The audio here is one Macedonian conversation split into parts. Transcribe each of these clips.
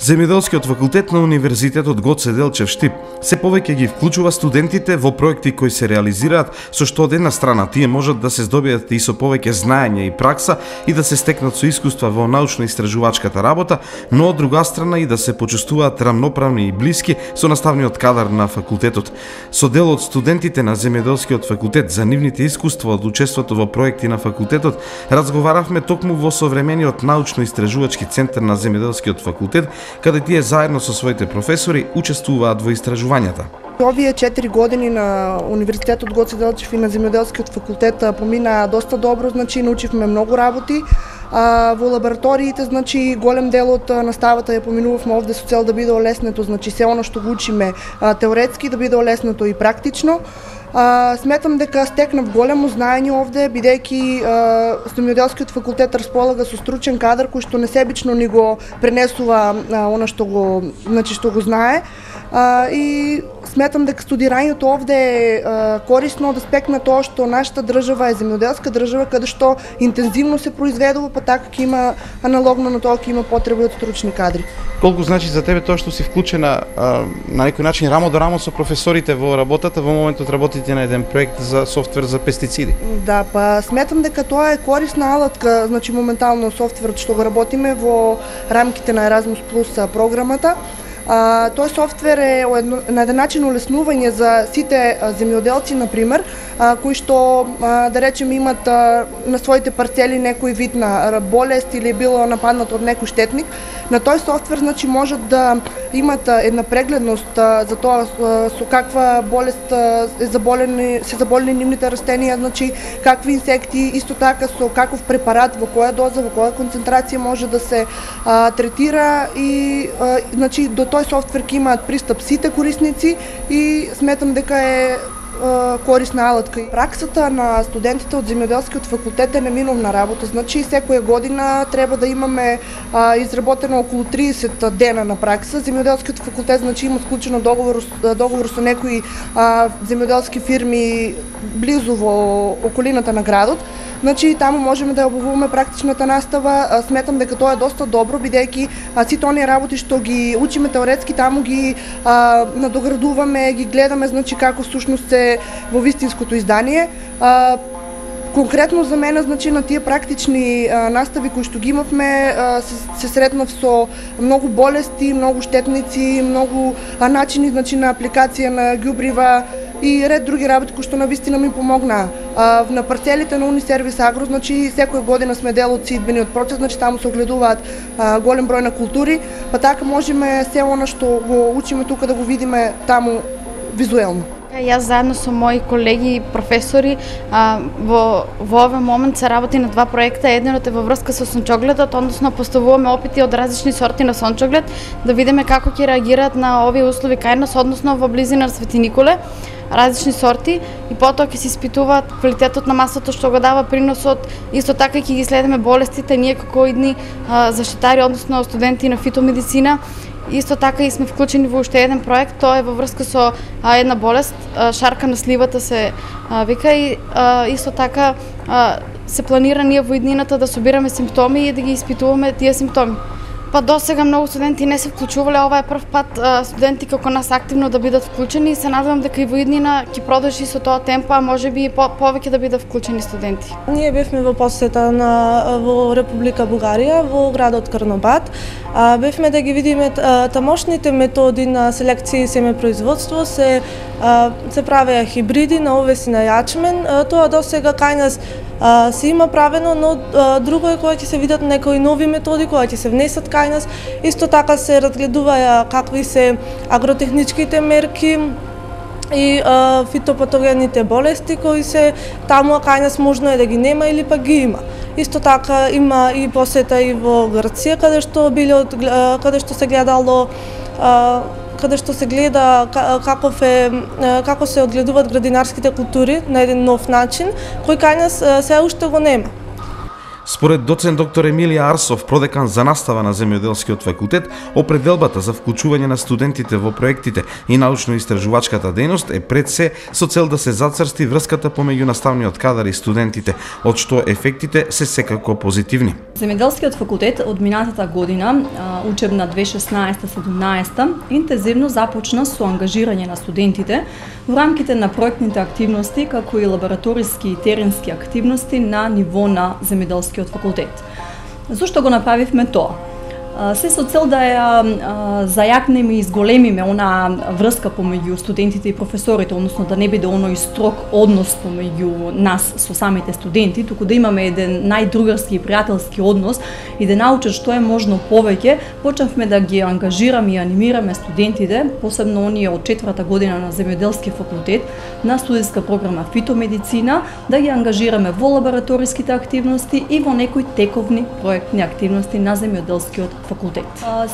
Земјоделскиот факултет на Универзитетот Гоце Делчев Штип се повеќе ги вклучува студентите во проекти кои се реализираат, со што од една страна тие можат да се здобијат и со повеќе знаење и пракса и да се стекнат со искуства во научно-истражувачката работа, но од друга страна и да се почувствуваат рамноправни и блиски со наставниот кадар на факултетот. Со дел од студентите на Земјоделскиот факултет за нивните искуства од учеството во проекти на факултетот разговаравме токму во современиот научно-истражувачки центар на Земјоделскиот факултет, каде тие заедно со своите професори учествуваат во истражувањата. Овие 4 години на Универзитетот Гоце Делчев и на Земјоделскиот факултет помина доста добро, научивме многу работи. Во лабораториите, голем дел од наставата ја поминувавме овде со цел да биде олеснето, се оно што го учиме теоретски да биде олеснето и практично. Сметам дека стекнав големо знаење овде, бидејќи Земјоделскиот факултет располага со стручен кадар кој што несебично ни го пренесува она што го знае. И сметам дека студирањето овде е корисно да спекне тоа што нашата држава е земјоделска држава каде што интензивно се произведува, па така ќе има аналогно на тоа ќе има потреба од стручни кадри. Колку значи за тебе тоа што си вклучена на некој начин рамо до рамо со професорите во работата, во моментот работите на еден проект за софтвер за пестициди? Да, па сметам дека тоа е корисна алатка, моментално софтверот што го работиме во рамките на Erasmus Plus програмата. Тој софтвер е на еден начин олеснување за сите земјоделци, например, кои што, да речем, имат на своите парцели некој вид на болест или било нападнат од некој штетник. На тој софтвер можат да имат една прегледност за тоа со каква болест се заболени нивните растенија, какви инсекти, исто така со каков препарат, во која доза, во која концентрација може да се третира и до тој софтвер ќе имаат пристап сите корисници и сметам дека е корисна алатка. Праксата на студентите од Земјоделскиот факултет е неминовна работа, секоја година треба да имаме изработено околу 30 дена на пракса. Земјоделскиот факултет има склучено договор со некои земјоделски фирми близу во околината на градот. Таму можеме да обуваме практичната настава. Сметам дека тоа е доста добро, бидејќи сите оние работи што ги учиме теоретски, таму ги надоградуваме, ги гледаме, како всушност се во вистинското издание. Конкретно за мене, на тие практични настави кои што ги имавме, се сретнав со многу болести, многу штетници, многу начини на апликација на ѓубрива и ред други работи кои што навистина ми помогнаа. На парцелите на Унисервис Агро, секоја година сме дел од сидбениот процес, таму се огледуваат голем број на култури, па така можеме се она што го учиме тука да го видиме таму визуелно. Јас заедно со мои колеги и професори во овој момент се работи на два проекта. Едниот е во врска со сончогледот, односно поставуваме опити од различни сорти на сончоглед, да видиме како ќе реагираат на овие услови кај нас, односно во близина на Свети Николе, различни сорти, и потоа ќе се испитуваат квалитетот на масото што го дава приносот, исто така ќе ги следиме болестите ние како идни заштитари, односно студенти на фитомедицина. Исто така и сме вклучени во уште еден проект, тоа е во врска со една болест, шарка на сливата се вика, и исто така се планира ние во иднината да собираме симптоми и да ги испитуваме тие симптоми. Па досега многу студенти не се вклучувале, ова е прв пат студенти како нас активно да бидат вклучени и се надевам дека и во иднина ќе продолжи со тоа темпо, а можеби и повеќе да бидат вклучени студенти. Ние бевме во посета во Република Бугарија, во градот Карнобат. Бевме да ги видиме тамошните методи на селекција и семепроизводство, се правеа хибриди на овес и на јачмен. Тоа досега кај нас се има правено, но друго е кога ќе се видат некои нови методи, кога ќе се внесат кај нас. Исто така се разгледуваја какви се агротехничките мерки и фитопатогените болести кои се таму, кај нас можно е да ги нема или па ги има. Исто така има и посета и во Грција, каде што се гледало каде што се гледа како се одгледуваат градинарските култури на еден нов начин, кој кај нас се уште го нема. Според доцент доктор Емилија Арсов, продекан за настава на земјоделскиот факултет, определбата за вклучување на студентите во проектите и научно-истражувачката дејност е пред се со цел да се зацрсти врската помеѓу наставниот кадар и студентите, од што ефектите се секако позитивни. Земјоделскиот факултет од минатата година, учебна 2016-17, интензивно започна со ангажирање на студентите во рамките на проектните активности, како и лабораториски и теренски активности на ниво на земјоделскиот факултет. Зошто го направивме тоа? Се со цел да ја зајакнеме и изголемиме она врска помеѓу студентите и професорите, односно да не биде оној строг однос помеѓу нас со самите студенти, туку да имаме еден најдругарски и пријателски однос и да научат што е можно повеќе, почнавме да ги ангажираме и анимираме студентите, посебно оние од 4-та година на земјоделски факултет, на студиска програма фитомедицина, да ги ангажираме во лабораториските активности и во некои тековни проектни активности на земјоделскиот факултет.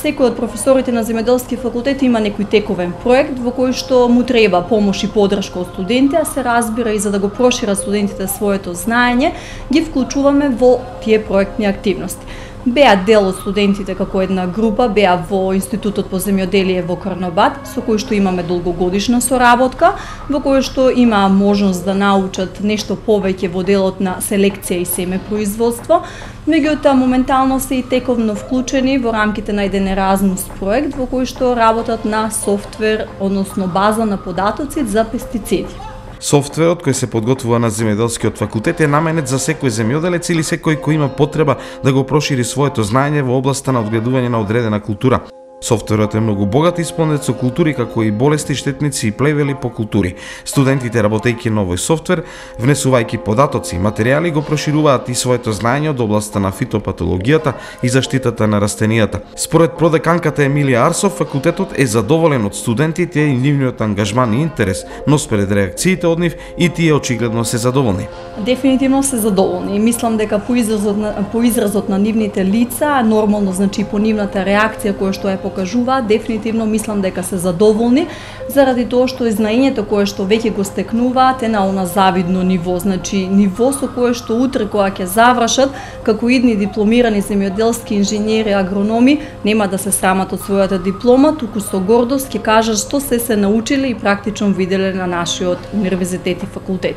Секој од професорите на земјоделски факултет има некој тековен проект во кој што му треба помош и поддршка од студенти, а се разбира и за да го прошират студентите своето знаење, ги вклучуваме во тие проектни активности. Беа дел од студентите како една група, беа во Институтот по земјоделие во Карнобат, со кој што имаме долгогодишна соработка, во кој што има можност да научат нешто повеќе во делот на селекција и семепроизводство. Меѓутоа, моментално се и тековно вклучени во рамките на еден Еразмус проект, во кој што работат на софтвер, односно база на податоци за пестициди. Софтверот кој се подготвува на земјоделскиот факултет е наменет за секој земјоделец или секој кој има потреба да го прошири своето знаење во областа на одгледување на одредена култура. Софтверот е многу богат и исполнет со култури како и болести, штетници и плевели по култури. Студентите, работејќи на овој софтвер, внесувајќи податоци и материјали, го прошируваат и своето знаење од областа на фитопатологијата и заштитата на растенијата. Според продеканката Емилија Арсов, факултетот е задоволен од студентите и нивниот ангажман и интерес, но според реакциите од нив и тие очигледно се задоволни. Дефинитивно се задоволни и мислам дека по изразот на нивните лица, нормално значи по нивната реакција која што е покажува, дефинитивно мислам дека се задоволни заради тоа што знаењето кое што веќе го стекнуваат е на она завидно ниво, значи ниво со кое што утре кога ќе завршат како идни дипломирани земјоделски инженери, агрономи, нема да се срамат од својата диплома, туку со гордост ќе кажат што се научиле и практично виделе на нашиот универзитет и факултет.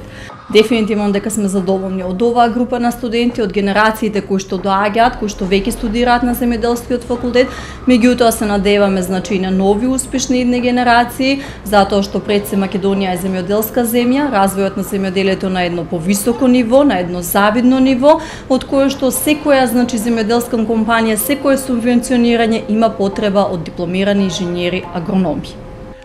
Дефинитивно дека сме задоволни од оваа група на студенти, од генерациите кои што доаѓаат, кои што веќе студираат на земјоделскиот факултет, меѓутоа се надеваме значи на нови успешни идни генерации, затоа што пред се Македонија е земјоделска земја, развојот на земјоделието на едно повисоко ниво, на едно завидно ниво, од кое што секоја значи земјоделска компанија, секое субвенционирање има потреба од дипломирани инженери агрономи.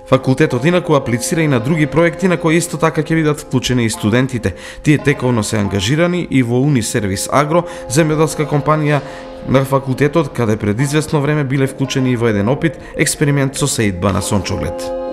Факултетот инаку аплицира и на други проекти на кои исто така ќе бидат вклучени и студентите. Тие тековно се ангажирани и во Унисервис Агро, земјоделска компанија на факултетот, каде пред известно време биле вклучени и во еден опит експеримент со сеидба на сончоглед.